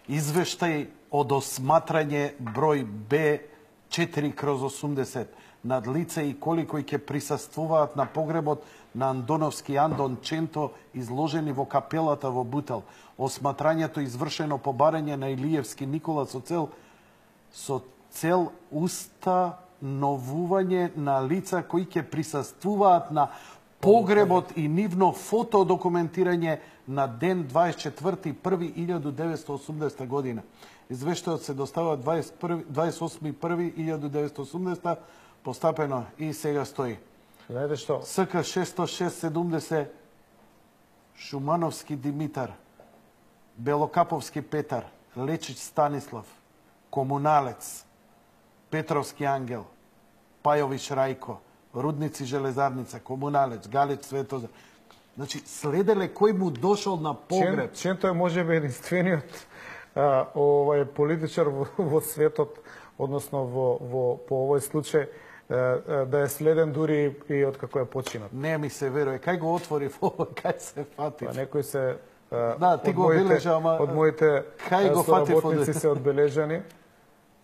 Извештај од осматрање број Б4/80 над лица и коли кои ќе присуствуваат на погребот на Андоновски Андон Ченто, изложени во капелата во Бутел. Осматрањето извршено по барање на Илиевски Никола со цел установување на лица кои ќе присуствуваат на погребот и нивно фотодокументирање на ден 24.1.1980 година. Извештајот се доставува 28.1.1980 постапено и сега стои. Знаете што? СК 60670 Шумановски Димитар, Белокаповски Петар, Лечич Станислав, Комуналец, Петровски Ангел, Пајович Рајко, Рудници Железарница, Комуналец, Галич Светозар. Значи, следеле кој му дошол на погреб. Ченто е можеби единствениот политичар во светот, односно по овој случај, да е следен дури и од како е починат. Не ми се верува. Кај го отвори кај се фати? Некој се... Да, ти го обележа, ама... Од моите соработници се одбележани.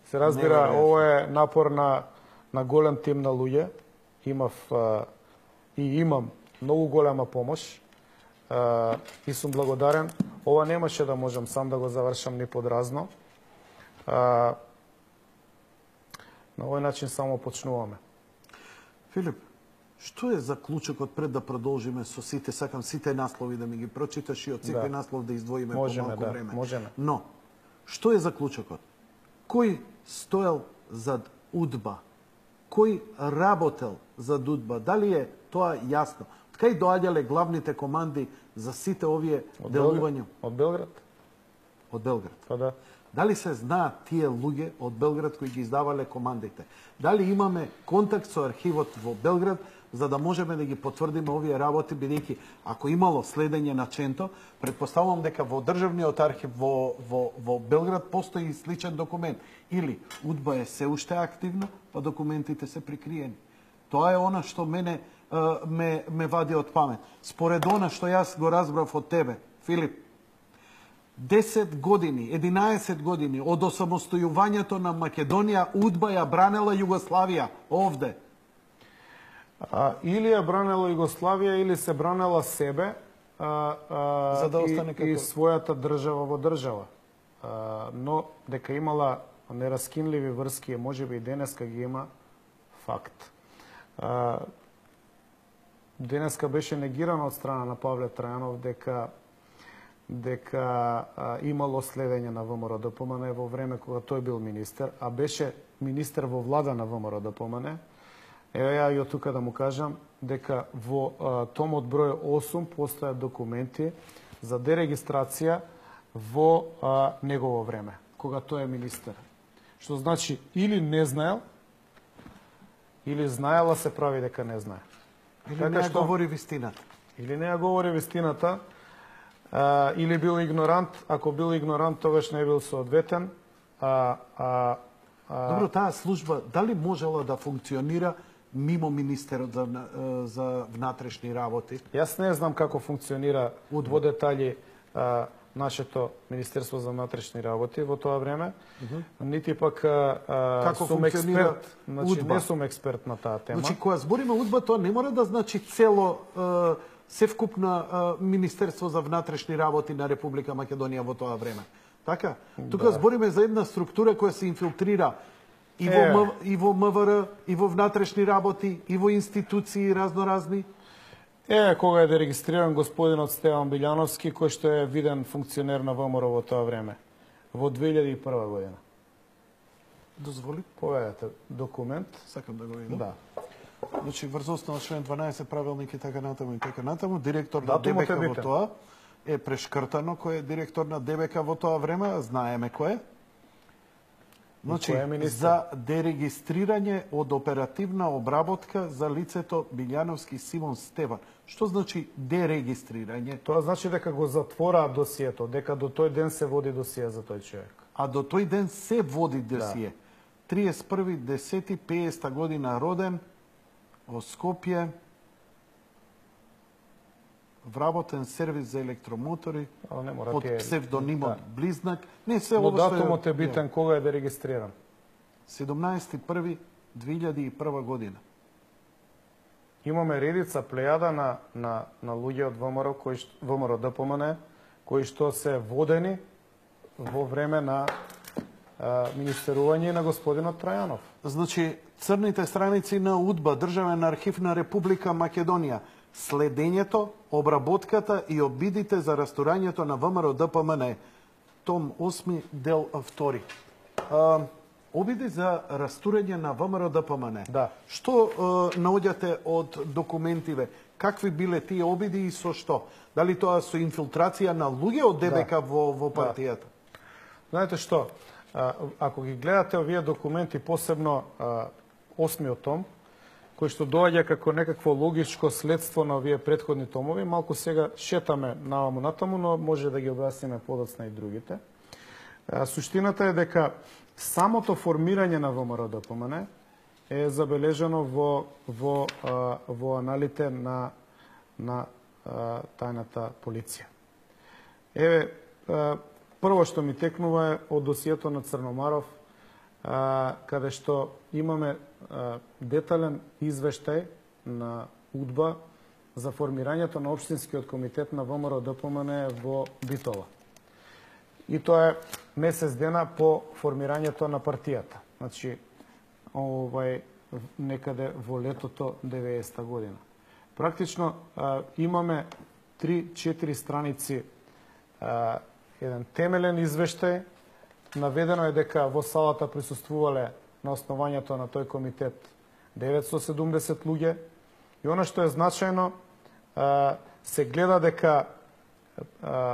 Се разбира, ово е напор на голем тим на луѓе. Имам многу голема помош и сум благодарен. Ова немаше да можам сам да го завршам ни подразно. На овој начин само почнуваме. Филип, што е заклучокот пред да продолжиме со сите? Сакам сите наслови да ми ги прочиташ и од секој наслов да издвоиме по малку време. Можеме. Но, што е заклучокот? Кој стоел зад УДБА? Кој работел зад УДБА? Дали е тоа јасно? Од кај доаѓале главните команди за сите овие делувања? Од Белград. Од Белград. Па да. Дали се знаат тие луѓе од Белград кои ги издавале командите? Дали имаме контакт со архивот во Белград за да можеме да ги потврдиме овие работи, бидејќи ако имало следење на Ченто, предпоставувам дека во државниот архив во Белград постои сличен документ. Или УДБА е се уште активна, па документите се прикриени. Тоа е она што мене ме вади од памет. Според она што јас го разбрав од тебе, Филип, 10 години, 11 години од осамостојувањето на Македонија, УДБА ја бранела Југославија овде. Или ја бранела Југославија, или се бранела себе за да остане и својата држава во држава. Но дека имала нераскинливи врски, можеби и денеска ги има, факт. Денеска беше негирано од страна на Павле Трајанов дека имало следење на ВМРО-ДПМН во време кога тој бил министер, а беше министер во влада на ВМРО-ДПМН. Еве ја и од тука да му кажам дека во томот број 8 постојат документи за дерегистрација во негово време, кога тој е министер. Што значи или не знаел, или знаела се прави дека не знае. Или не ја говори вистината. Или не ја говори вистината, или бил игнорант. Ако бил игнорант, тогаш не бил соодветен. Добро, таа служба дали можела да функционира мимо министерот за внатрешни работи? Јас не знам како функционира во детали нашето Министерство за внатрешни работи во тоа време, нити пак сум експерт, значи не сум експерт на таа тема. Значи кога збориме УДБА, тоа не мора да значи цело севкупно Министерство за внатрешни работи на Република Македонија во тоа време. Така? Тука збориме за една структура која се инфилтрира и во МВР, и во внатрешни работи, и во институции разноразни. Кога е дерегистриран господинот Стеван Билјановски, кој што е виден функционер на ВМРО во тоа време, во 2001 година. Дозволи? Поведете документ. Сакам да го видам. Да. Значи, врз основа член 12 правилник и така натаму, директор на ДБК во тоа е прешкртано кој е директор на ДБК во тоа време, знаеме кој е. Значи, за дерегистрирање од оперативна обработка за лицето Билјановски Симон Стеван. Што значи дерегистрирање? Тоа значи дека го затвора досието, дека до тој ден се води досие за тој човек. А до тој ден се води досие. 31.10.50 година роден, во Скопје, вработен сервис за електромотори под тие... псевдонимот Близнак. Не се Но ово што датумот е битен, кога е да регистриран? 17.1.2001 година. Имаме редица плејада на луѓе од ВМРО ДПМН кои што се водени во време на министерување на господинот Трајанов. Значи, црните страници на УДБА, Државен архив на Република Македонија, следењето, обработката и обидите за растурањето на ВМРО ДПМН, том 8, дел 2. Обиди за растурање на ВМРО ДПМН. Да. Што наоѓате од документиве? Какви биле тие обиди и со што? Дали тоа со инфилтрација на луѓе од ДБК во партијата? Знаете што? Ако ги гледате овие документи, посебно 8-миот том, кој што доаѓа како некакво логичко следство на овие претходни томови, малку сега шетаме наваму натаму, но може да ги објасниме подоцна и другите. Суштината е дека самото формирање на ВМРО ДПМН е забележано во аналите на тајната полиција. Еве, прво што ми текнува е од досието на Црномаров, каде што имаме детален извештај на УДБА за формирањето на Општинскиот комитет на ВМРО ДПМН во Битола. И тоа е месец дена по формирањето на партијата. Значи, некаде во летото 90-та година. Практично имаме 3-4 страници еден темелен извештај. Наведено е дека во салата присуствувале на основањето на тој комитет 970 луѓе. И она што е значајно, се гледа дека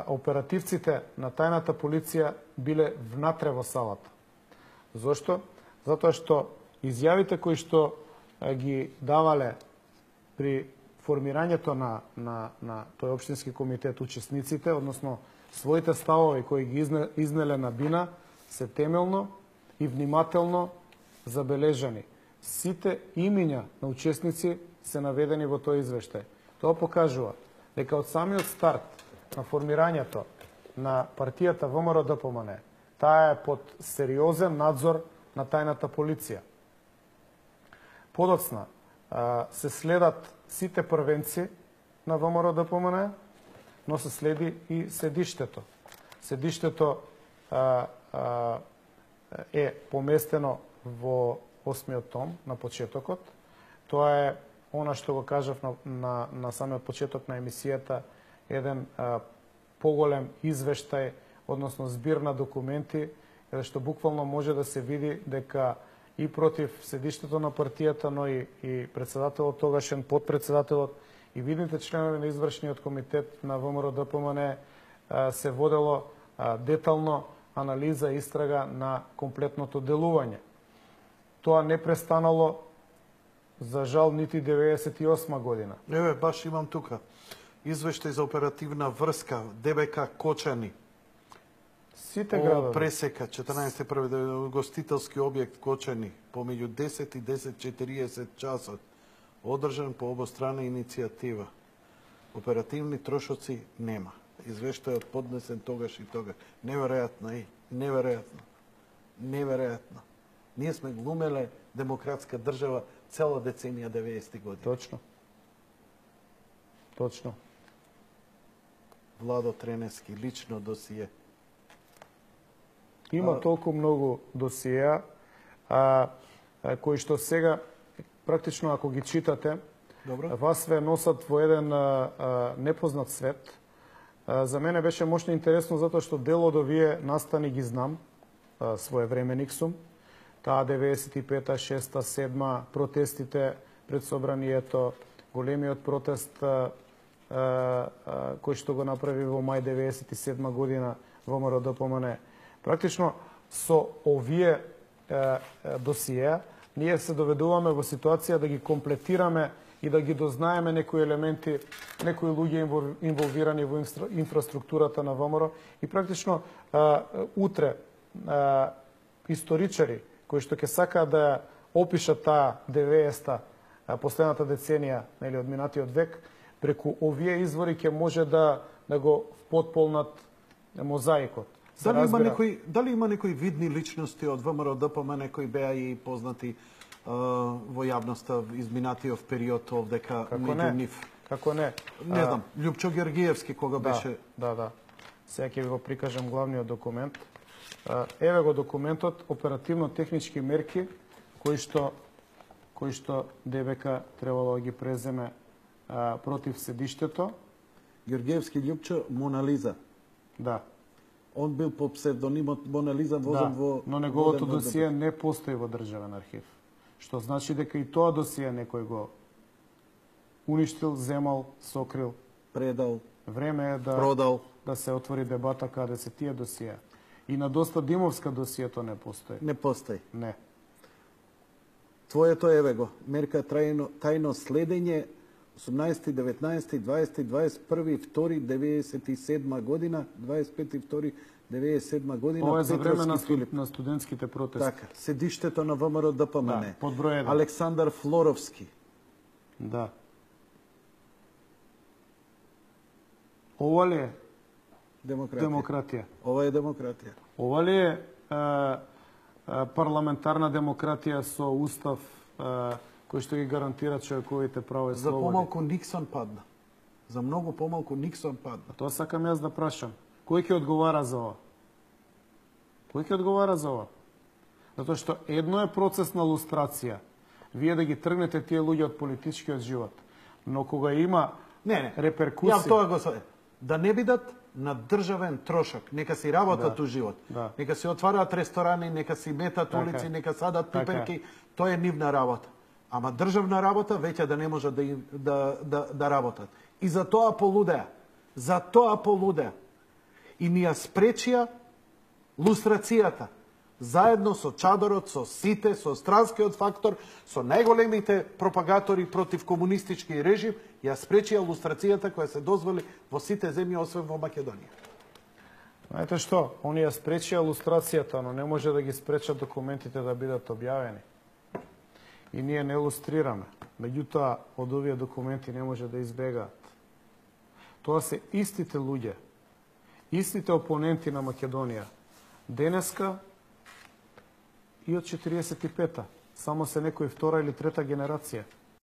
оперативците на тајната полиција биле внатре во салата. Зошто? Затоа што изјавите кои што ги давале при формирањето на тој општински комитет учесниците, односно своите ставови кои ги изнеле на бина, се темелно и внимателно забележани. Сите имиња на учесници се наведени во тој извештај. Тоа покажува дека од самиот старт на формирањето на партијата ВМРО ДПМН, таа е под сериозен надзор на тајната полиција. Подоцна се следат сите првенци на ВМРО ДПМН, но се следи и седиштето. Седиштето е поместено во 8-миот том на почетокот. Тоа е она што го кажав на самиот почеток на емисијата, еден поголем извештај, односно збир на документи, што буквално може да се види дека и против седиштето на партијата, но и председателот тогашен, подпредседателот и видните членови на извршниот комитет на ВМРО ДПМН се водело детално анализа и истрага на комплетното делување. Тоа не престанало, за жал, нити 98 година. Еве, баш имам тука. Извештај за оперативна врска ДБК Кочани. Сите градови. Пресека 14.1. гостителски објект Кочани помеѓу 10 и 10:40 часот. Одржан по обострана иницијатива. Оперативни трошоци нема. Извештајот поднесен тогаш и тогаш. Неверојатно, неверојатно. Ние сме глумеле демократска држава цела деценија 90-ти години. Точно. Владо Тренески, лично досие. Има толку многу досиеа, кои што сега, практично ако ги читате, вас ве носат во еден непознат свет. За мене беше мощно интересно, затоа што дел од овие настани ги знам, своевременик сум. Таа 95-та, 6-та, 7-та, протестите пред собранието, големиот протест кој што го направи во мај 97 година ВМРО ДПМН. Практично со овие досиеа ние се доведуваме во ситуација да ги комплетираме и да ги дознаеме некои елементи, некои луѓе инволвирани во инфраструктурата на ВМРО и практично утре историчари кои што ќе сакаат да опишат таа 90-та, последната деценија од минатиот век, преку овие извори ќе може да го потполнат мозаикот. Дали има некои видни личности од ВМРО ДПМН кои беа и познати во јавноста изминатиот период овдека меѓу нив? Како не? Не знам, Љупчо Георгиевски кога беше... Да. Сега ќе ви го прикажам главниот документ. Еве го документот, оперативно-технички мерки кои што ДБК требало да ги преземе против седиштето. Георгиевски Љупчо, Мона Лиза. Да. Он бил по псевдонимот Мона Лиза возен во... Но неговото досие не постои во државен архив. Што значи дека и тоа досие некој го уништил, земал, сокрил. Предал. Време е продал. Да се отвори дебата каде се тие досија. И на доста Димовска досието не постои. Не постои. Не. Твоето еве го. Мерка тајно следење 18, 19, 20, 21, 2, 97 година, 25, 2, 97 година. Ова е за време на студентските протести. Така, седиштето на ВМРО ДПМН. Да, под број 1. Александар Флоровски. Да. Ова ли е демократија? Ова е демократија. Ова ли е парламентарна демократија со устав кој што ги гарантира човековите права и слободи? За помалку Никсон падна. За многу помалку Никсон падна. Тоа сакам јас да прашам. Кој ќе одговара за ова? Кој ќе одговара за ова? Затоа што едно е процес на лустрација. Вие да ги тргнете тие луѓе од политичкиот живот. Но кога има реперкусии... Ја тоа го све. Да не бидат на државен трошак. Нека си работат у живот. Нека си отвараат ресторани, нека си метат улици, нека садат пиперки. Тоа е нивна работа. Ама државна работа веќе да не може да работат. И за тоа полудеа. За тоа полудеа. И ни ја спречија лустрацијата. Заедно со чадорот, со сите, со странскиот фактор, со најголемите пропагатори против комунистички режим, ја спречија лустрацијата која се дозволи во сите земји, освен во Македонија. Знаете што? Они ја спречија лустрацијата, но не може да ги спречат документите да бидат објавени. И ние не лустрираме. Меѓутоа, од овие документи не може да избегаат. Тоа се истите луѓе, истите опоненти на Македонија. Денеска и од 45-та. Само се некој втора или трета генерација.